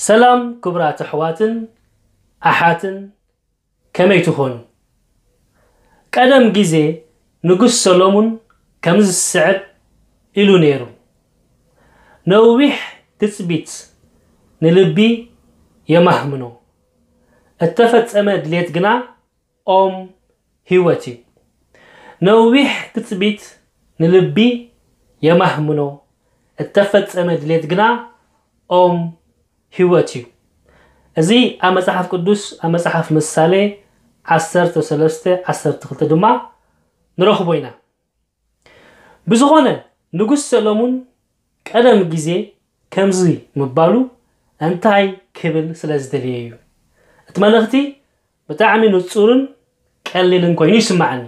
ሰላም ክቡራት ኣሕዋትን ኣሓትን፣ ከመይ ትኾኑ? ቀደም ግዜ ንጉስ ሰሎሙን ከምዚ ዝስዕብ ኢሉ ነይሩ፣ "ነዊሕ ትጽቢት ንልቢ የማህምኖ፣ እተፈጸመ ድሌት ግና ኦም ህይወት እዩ። ነዊሕ ትጽቢት ንልቢ የማህምኖ፣ እተፈጸመ ድሌት ግና ኦም ህይወት እዩ." እዚ ኣብ መጽሓፍ ቅዱስ፣ ኣብ መጽሓፍ ምሳሌ ዓሰርተ ሰለስተ ዓሰርተ ክልተ ድማ ንረኽቦ ኢና። ብዝኾነ፣ ንጉስ ሰሎሙን ቀደም ግዜ ከምዚ ምባሉ እንታይ ክብል ስለ ዝደለየ እዩ? እቲ መልእኽቲ ብጣዕሚ ንጹርን ቀሊልን ኮይኑ ይስምዓኒ።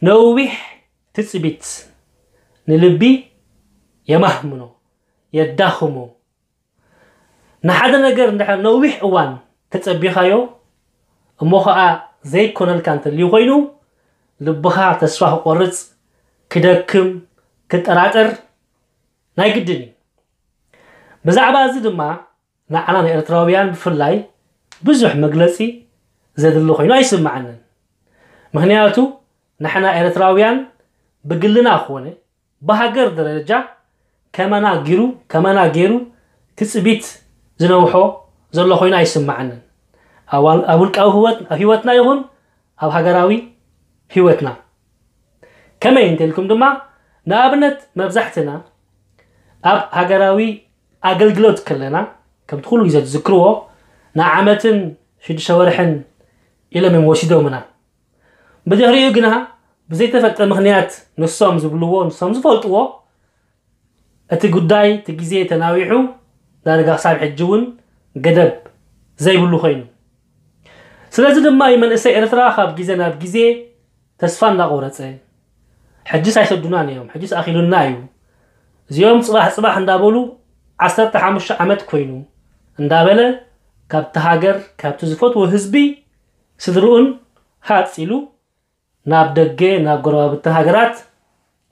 ነዊሕ ትጽቢት ንልቢ የማህምኖ፣ የዳኽሞ። ንሓደ ነገር እንድሕር ነዊሕ እዋን ተጸቢኻዮ፣ እሞ ኸኣ ዘይኮነልካ እንተልዩ ኮይኑ፣ ልብኻ ተስፋ ክቆርጽ፣ ክደክም፣ ክጠራጠር ናይ ግድን እዩ። ብዛዕባ እዚ ድማ ንዓና ንኤርትራውያን ብፍላይ ብዙሕ መግለጺ ዘድሊ ኮይኑ ኣይስምዓንን። ምኽንያቱ ንሕና ኤርትራውያን ብግልና ኮነ ብሃገር ደረጃ ከመና ጊሩ፣ ከመና ገይሩ ትጽቢት ዝነውሖ ዘሎ ኮይኑ ኣይስምዓንን። ኣብ ዋል-፣ ኣብ ውልቃዊ ህይወት-፣ ኣብ ህይወትና ይኹን ኣብ ሃገራዊ ህይወትና። ከመይ እንተልኩም ድማ፣ ንኣብነት መብዛሕትና ኣብ ሃገራዊ ኣገልግሎት ከለና፣ ከምቲ ኩሉ ግዜ ትዝክርዎ፣ ንዓመትን ሽዱሽተ ወርሕን ኢሎም እዮም ወሲዶምና። ብድሕሪኡ ግና ብዘይተፈልጠ ምኽንያት ንሶም ዝብልዎ፣ ንሶም ዝፈልጥዎ፣ እቲ ጉዳይ፣ እቲ ግዜ ተናዊሑ፣ ዳርጋ ክሳብ ሕጂ እውን ገደብ ዘይብሉ ኮይኑ። ስለዚ ድማ እዩ መንእሰይ ኤርትራ ካብ ግዜ ናብ ግዜ ተስፋ እንዳቆረጸ፣ "ሕጅስ ኣይሰዱናን እዮም፣ ሕጅስ ኣኺሉና እዩ፣ እዚኦም ጽባሕ ጽባሕ እንዳበሉ ዓሰርተ ሓሙሽተ ዓመት ኮይኑ" እንዳበለ ካብቲ ሃገር፣ ካብቲ ዝፈትዎ ህዝቢ፣ ስድርኡን ሃጽ ኢሉ ናብ ደገ፣ ናብ ጎረባብቲ ሃገራት፣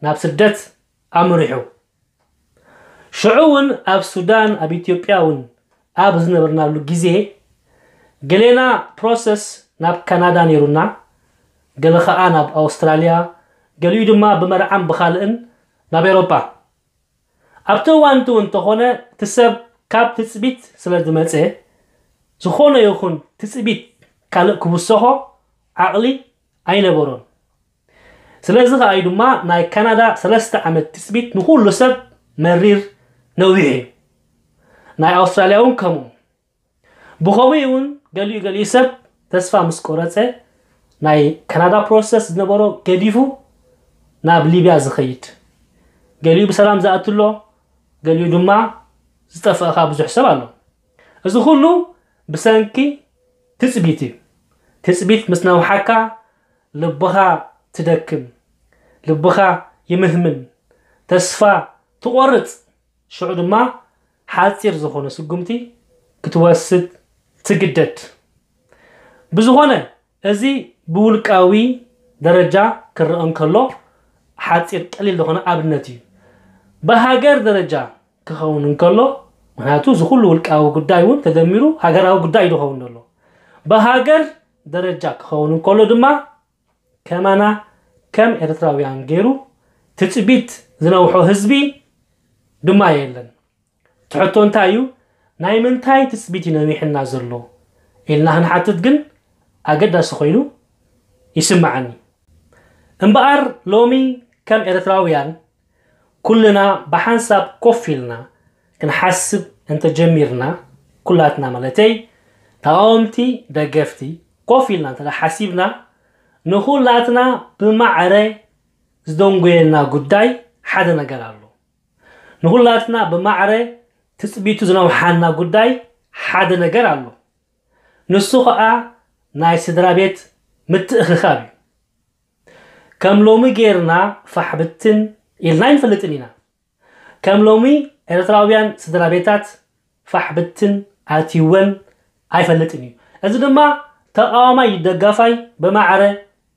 ናብ ስደት ኣምሪሑ። ሽዑ እውን ኣብ ሱዳን፣ ኣብ ኢትዮጵያ እውን ኣብ ዝነበርናሉ ግዜ፣ ገሌና ፕሮሰስ ናብ ካናዳ ነይሩና፣ ገለ ኸኣ ናብ ኣውስትራልያ፣ ገሊኡ ድማ ብመርዓን ብኻልእን ናብ ኤውሮጳ። ኣብቲ እዋን እቲ እውን እንተኾነ፣ እቲ ሰብ ካብ ትጽቢት ስለ ዝመጸ፣ ዝኾነ ይኹን ትጽቢት ካልእ ክውሰኾ ዓቕሊ ኣይነበሮን። ስለዚ ኸኣ እዩ ድማ ናይ ካናዳ ሰለስተ ዓመት ትጽቢት ንኹሉ ሰብ መሪር ነዊሕ እዩ። ናይ ኣውስትራልያ እውን ከምኡ። ብኸምኡ እውን ገሊኡ ገሊኡ ሰብ ተስፋ ምስ ቆረጸ፣ ናይ ካናዳ ፕሮሰስ ዝነበሮ ገዲፉ ናብ ሊብያ ዝኸይድ፣ ገሊኡ ብሰላም ዝኣቱ ኣሎ፣ ገሊኡ ድማ ዝጠፍአ ኸኣ ብዙሕ ሰብ ኣሎ። እዚ ኹሉ ብሰንኪ ትጽቢት እዩ። ትጽቢት ምስ ነውሓካ፣ ልብኻ ትደክም፣ ልብኻ ይምህምን፣ ተስፋ ትቖርጽ፣ ሽዑ ድማ ሓጺር ዝኾነ ስጉምቲ ክትወስድ ትግደድ። ብዝኾነ፣ እዚ ብውልቃዊ ደረጃ ክረአ እንከሎ ሓጺር ቀሊል ዝኾነ ኣብነት እዩ። ብሃገር ደረጃ ክኸውን እንከሎ፣ ምኽንያቱ እዚ ኩሉ ውልቃዊ ጉዳይ እውን ተደሚሩ ሃገራዊ ጉዳይ እዩ ዝኸውን ዘሎ። ብሃገር ደረጃ ክኸውን እንከሎ ድማ ከማና ከም ኤርትራውያን ገይሩ ትጽቢት ዝነውሖ ህዝቢ ድማ የለን። እቲ ሕቶ እንታይ እዩ? ናይ ምንታይ ትጽቢት እዩ ነዊሕና ዘሎ ኢልና ክንሓትት ግን ኣገዳሲ ኮይኑ ይስምዓኒ። እምበኣር ሎሚ ከም ኤርትራውያን ኩልና ብሓንሳብ ኮፍ ኢልና ክንሓስብ እንተጀሚርና፣ ኩላትና ማለተይ፣ ተቓወምቲ፣ ደገፍቲ፣ ኮፍ ኢልና እንተ ሓሲብና፣ ንኹላትና ብማዕረ ዝደንጎየና ጉዳይ ሓደ ነገር ኣሎ። ንኹላትና ብማዕረ ትጽቢቱ ዝነውሓና ጉዳይ ሓደ ነገር ኣሎ። ንሱ ኸኣ ናይ ስድራ ቤት ምትእኽኻብ እዩ። ከም ሎሚ ጌርና ፋሕ ብትን ኢልና ኣይንፈልጥን ኢና። ከም ሎሚ ኤርትራውያን ስድራ ቤታት ፋሕ ብትን ኣትይወን ኣይፈልጥን እዩ። እዚ ድማ ተቓዋማይ ደጋፋይ ብማዕረ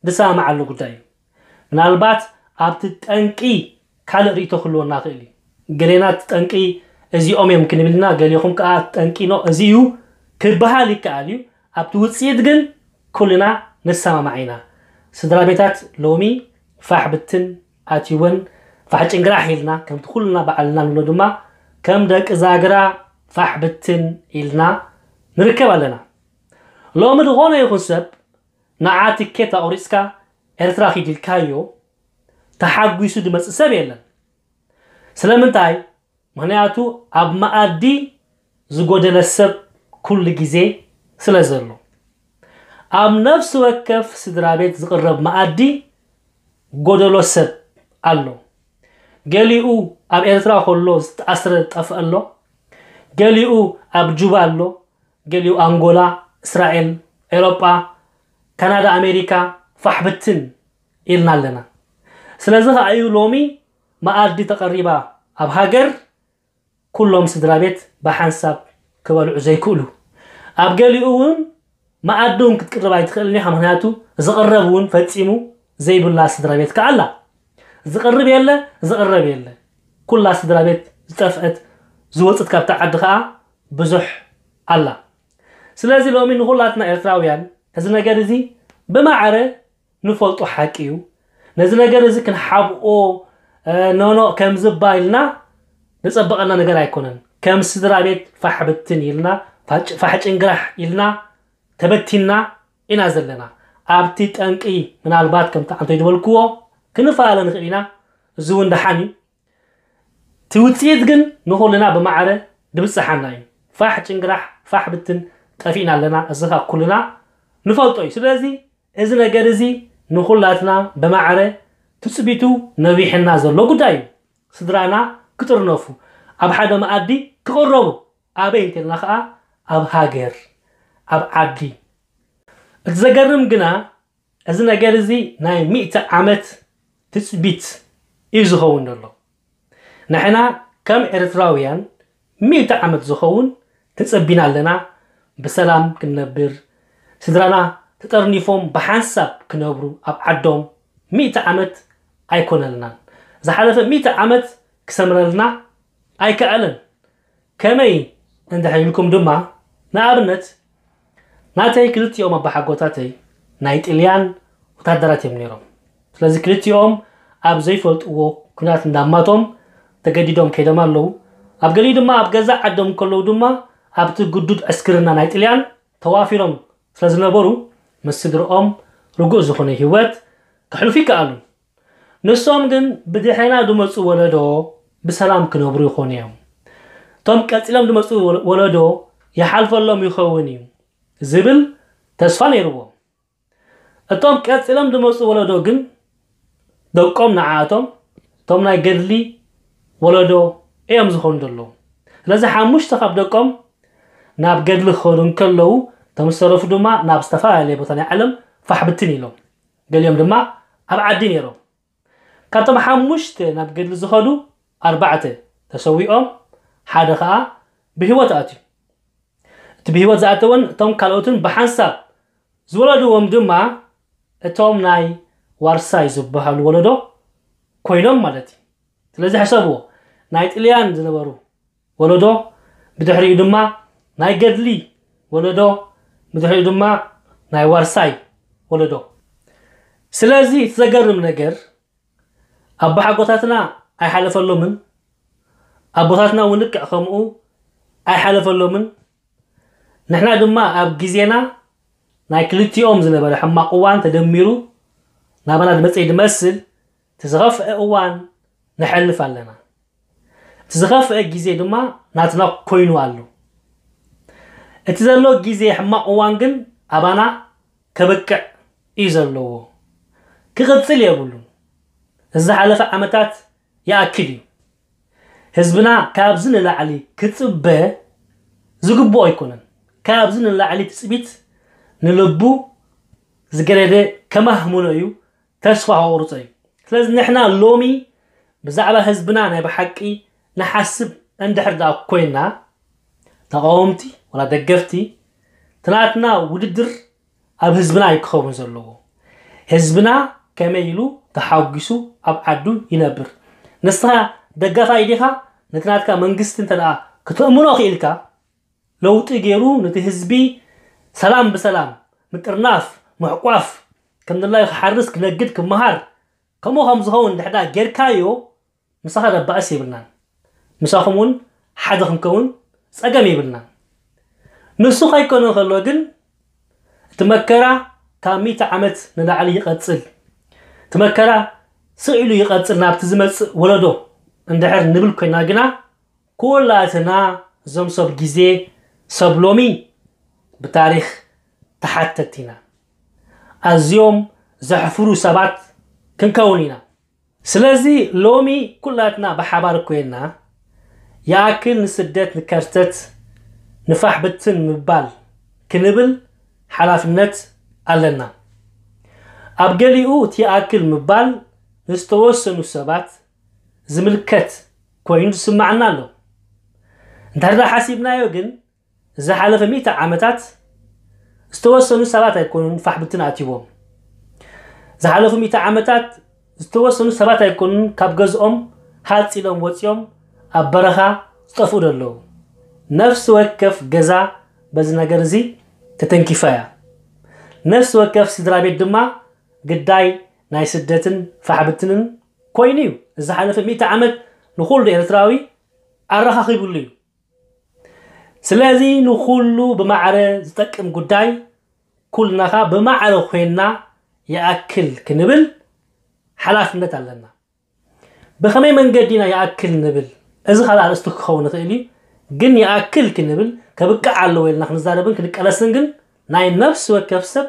ዝሰማማዓሉ ጉዳይ እዩ። ምናልባት ኣብቲ ጠንቂ ካልእ ርእይቶ ክህልወና ይኽእል እዩ። ገሌና እቲ ጠንቂ እዚኦም እዮም ክንብል ኢና፣ ገሊኹም ከኣ ጠንቂኖ እዚ እዩ ክበሃል ይከኣል እዩ። ኣብቲ ውጽኢት ግን ኩልና ንሰማማዕ ኢና። ስድራ ቤታት ሎሚ ፋሕ ብትን ኣትይወን፣ ፋሕ ጭንግራሕ ኢልና፣ ከምቲ ኩልና ባዕልና ንብሎ ድማ ከም ደቂ ዛግራ ፋሕ ብትን ኢልና ንርከብ ኣለና። ሎሚ ዝኾነ ይኹን ሰብ ንዓ ትኬት ኣቑሪጽካ ኤርትራ ኪድ ኢልካዮ ተሓጒሱ ዝመጽእ ሰብ የለን። ስለምንታይ? ምኽንያቱ ኣብ መኣዲ ዝጎደለ ሰብ ኩሉ ግዜ ስለ ዘሎ። ኣብ ነፍሲ ወከፍ ስድራ ቤት ዝቕረብ መኣዲ ጎደሎ ሰብ ኣሎ። ገሊኡ ኣብ ኤርትራ ከሎ ዝተኣስረ ዝጠፍአ ኣሎ። ገሊኡ ኣብ ጁባ ኣሎ። ገሊኡ ኣንጎላ፣ እስራኤል፣ ኤሮጳ፣ ካናዳ፣ ኣሜሪካ ፋሕ ብትን ኢልና ኣለና። ስለዚ ከኣ እዩ ሎሚ መኣዲ ተቐሪባ ኣብ ሃገር ኩሎም ስድራ ቤት ብሓንሳብ ክበልዑ ዘይክእሉ። ኣብ ገሊኡ እውን መኣዲ እውን ክትቅርብ ኣይትኽእልን ኢኻ፣ ምኽንያቱ ዝቕረብ እውን ፈጺሙ ዘይብላ ስድራ ቤት ከኣ ኣላ። ዝቕርብ የለ፣ ዝቕረብ የለ። ኩላ ስድራ ቤት ዝጠፍአት ዝወጽት ካብታ ዓዲ ከኣ ብዙሕ ኣላ። ስለዚ ሎሚ ንኹላትና ኤርትራውያን እዚ ነገር እዚ ብማዕረ ንፈልጦ ሓቂ እዩ። ነዚ ነገር እዚ ክንሓብኦ፣ እ፣ ኖኖ ከም ዝባ ኢልና ንጸበቐልና ነገር ኣይኮነን። ከም ስድራ ቤት ፋሕ ብትን ኢልና፣ ፋጭ-፣ ፋሕ ጭንግራሕ ኢልና ተበቲንና ኢና ዘለና። ኣብቲ ጠንቂ ምናልባት ከምቲ ኣንቶይ ዝበልክዎ ክንፈላለ ንኽእል ኢና። እዚ እውን ደሓን እዩ። እቲ ውጽኢት ግን ንኹልና ብማዕረ ድብጽሓና እዩ። ፋሕ ጭንግራሕ፣ ፋሕ ብትን ጠፊእና ኣለና። እዚ ኸኣ ኩልና ንፈልጦ እዩ። ስለዚ እዚ ነገር እዚ ንኹላትና ብማዕረ ትጽቢቱ ነዊሕና ዘሎ ጉዳይ እዩ። ስድራና ክጥርነፉ፣ ኣብ ሓደ መኣዲ ክቕረቡ፣ ኣበይ እንተልና ኸኣ ኣብ ሃገር፣ ኣብ ዓዲ። እቲ ዘገርም ግና እዚ ነገር እዚ ናይ ሚእቲ ዓመት ትጽቢት እዩ ዝኸውን ዘሎ። ንሕና ከም ኤርትራውያን ሚእቲ ዓመት ዝኸውን ተጸቢና ኣለና። ብሰላም ክንነብር፣ ስድራና ተጠርኒፎም ብሓንሳብ ክነብሩ ኣብ ዓዶም። ሚእቲ ዓመት ኣይኮነልናን። ዝሓለፈ ሚእቲ ዓመት ክሰምረልና ኣይከኣለን። ከመይ እንድሕር ኢልኩም ድማ፣ ንኣብነት፣ ናተይ ክልቲኦም ኣባሓጎታተይ ናይ ጥልያን ወታደራት እዮም ነይሮም። ስለዚ ክልቲኦም ኣብ ዘይፈልጥዎ ኲናት እንዳማቶም ተገዲዶም ከይዶም ኣለዉ። ኣብ ገሊኡ ድማ ኣብ ገዛእ ዓዶም ከለዉ ድማ ኣብቲ ግዱድ ዕስክርና ናይ ጥልያን ተዋፊሮም ስለ ዝነበሩ፣ ምስ ስድርኦም ርጉእ ዝኾነ ህይወት ከሕልፉ ይከኣሉ። ንሶም ግን ብድሕሬና ዝመጹ ወለዶ ብሰላም ክነብሩ ይኾኑ እዮም። እቶም ቀጺሎም ዝመጹ ወለ-፣ ወለዶ ይሓልፈሎም ይኸውን እዩ ዝብል ተስፋ ነይርዎም። እቶም ቀጺሎም ዝመጹ ወለዶ ግን ደቆም ንዓኣቶም እቶም ናይ ገድሊ ወለዶ እዮም ዝኾኑ ዘለዉ። ስለዚ ሓሙሽተ ካብ ደቆም ናብ ገድሊ ክኸዱ እንከለዉ፣ እቶም ዝተረፉ ድማ ናብ ዝተፈላለየ ቦታ ናይ ዓለም ፋሕ ብትን ኢሎም። ገሊኦም ድማ ኣብ ዓዲ ነይሮም። ካብቶም ሓሙሽተ ናብ ገድሊ ዝኸዱ ኣርባዕተ ተሰዊኦም፣ ሓደ ኸኣ ብህይወት ኣትዩ። እቲ ብህይወት ዝኣተወን እቶም ካልኦትን ብሓንሳብ ዝወለድዎም ድማ እቶም ናይ ዋርሳይ ዝበሃሉ ወለዶ ኮይኖም ማለት እዩ። ስለዚ ሕሰብዎ፣ ናይ ጥልያን ዝነበሩ ወለዶ፣ ብድሕሪኡ ድማ ናይ ገድሊ ወለዶ፣ ብድሕሪኡ ድማ ናይ ዋርሳይ ወለዶ። ስለዚ እቲ ዘገርም ነገር ኣቦሓጎታትና ኣይሓለፈሎምን፣ ኣቦታትና እውን ልክዕ ከምኡ ኣይሓለፈሎምን። ንሕና ድማ ኣብ ግዜና ናይ ክልቲኦም ዝነበረ ሕማቕ እዋን ተደሚሩ ናባና ዝመጸ ዝመስል እቲ ዝኸፍአ እዋን ነሕልፍ ኣለና። እቲ ዝኸፍአ ግዜ ድማ ናትና ኮይኑ ኣሎ። እቲ ዘሎ ግዜ ሕማቕ እዋን ግን ኣባና ከብቅዕ እዩ ዘለዎ። ክቕጽል የብሉን። እዚ ዝሓለፈ ዓመታት ይኣክል እዩ። ህዝብና ካብዚ ንላዕሊ ክጽበ ዝግብኦ ኣይኮነን። ካብዚ ንላዕሊ ትጽቢት ንልቡ ዝገደደ ከማህምኖ እዩ፣ ተስፋ ከቑርጾ እዩ። ስለዚ ንሕና ሎሚ ብዛዕባ ህዝብና ናይ ብሓቂ ንሓስብ እንድሕር ደኣ ኮይና፣ ተቓወምቲ ወላ ደገፍቲ፣ እቲ ናትና ውድድር ኣብ ህዝብና እዩ ክኸውን ዘለዎ። ህዝብና ከመይ ኢሉ ተሓጒሱ ኣብ ዓዱ ይነብር? ንስኻ ደጋፋይ ዲኻ? ነቲ ናትካ መንግስቲ እንተ ደኣ ክተእምኖ ክኢልካ፣ ለውጢ ገይሩ ነቲ ህዝቢ ሰላም ብሰላም ምጥርናፍ፣ ምሕቋፍ፣ ከም ድላዩ ክሓርስ፣ ክነግድ፣ ክመሃር፣ ከምኡ ከም ዝኸውን ድሕዳ ጌርካዮ፣ ምሳኻ ደባእስ የብልናን። ምሳኹም እውን ሓደ ክንከውን ጸገም የብልናን። ንሱ ከይኮነ ከሎ ግን እቲ መከራ ካብ ሚእቲ ዓመት ንላዕሊ ይቐጽል። እቲ መከራ ስቕ ኢሉ ይቐጽል ናብቲ ዝመጽእ ወለዶ እንድሕር ንብል ኮይና ግና፣ ኩላትና እዞም ሰብ ግዜ፣ ሰብ ሎሚ ብታሪኽ ተሓተቲ ኢና። ኣዝዮም ዘሕፍሩ ሰባት ክንከውን ኢና። ስለዚ ሎሚ ኩላትና ብሓባር ኮይና ይኣክል ንስደት ንከርተት ንፋሕ ብትን ምባል ክንብል ሓላፍነት ኣለና። ኣብ ገሊኡ እቲ ይኣክል ምባል ንዝተወሰኑ ሰባት ዝምልከት ኮይኑ ዝስማዓና ኣሎ። እንድሕር ደኣ ሓሲብናዮ ግን ዝሓለፈ ሚእቲ ዓመታት ዝተወሰኑ ሰባት ኣይኮኑን ፋሕ ብትን ኣትይዎም። ዝሓለፉ ሚእቲ ዓመታት ዝተወሰኑ ሰባት ኣይኮኑን ካብ ገዝኦም ሃጽ ኢሎም ወጺኦም ኣብ በረኻ ዝጠፍኡ ዘለዉ። ነፍሲ ወከፍ ገዛ በዚ ነገር እዚ ተተንኪፋ እያ። ነፍሲ ወከፍ ስድራ ቤት ድማ ግዳይ ናይ ስደትን ፋሕብትንን ኮይኑ እዩ። እዚ ዝሓለፈ ሚእቲ ዓመት ንኹሉ ኤርትራዊ ኣረኻኺቡሉ እዩ። ስለዚ ንኹሉ ብማዕረ ዝጠቅም ጉዳይ ኩልና ኸኣ ብማዕረ ኮይንና ይኣክል ክንብል ሓላፍነት ኣለና። ብኸመይ መንገዲ ኢና ይኣክል ንብል? እዚ ካልእ ኣርእስቲ ክኸውን ይኽእል እዩ። ግን ይኣክል ክንብል ከብቅዕ ኣለዎ ኢልና ክንዛረብን ክንቃለስን ግን ናይ ነፍሲ ወከፍ ሰብ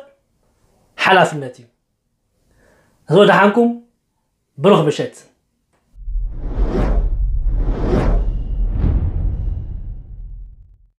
ሓላፍነት እዩ። እዚ ወደሓንኩም ብሩኽ ምሸት።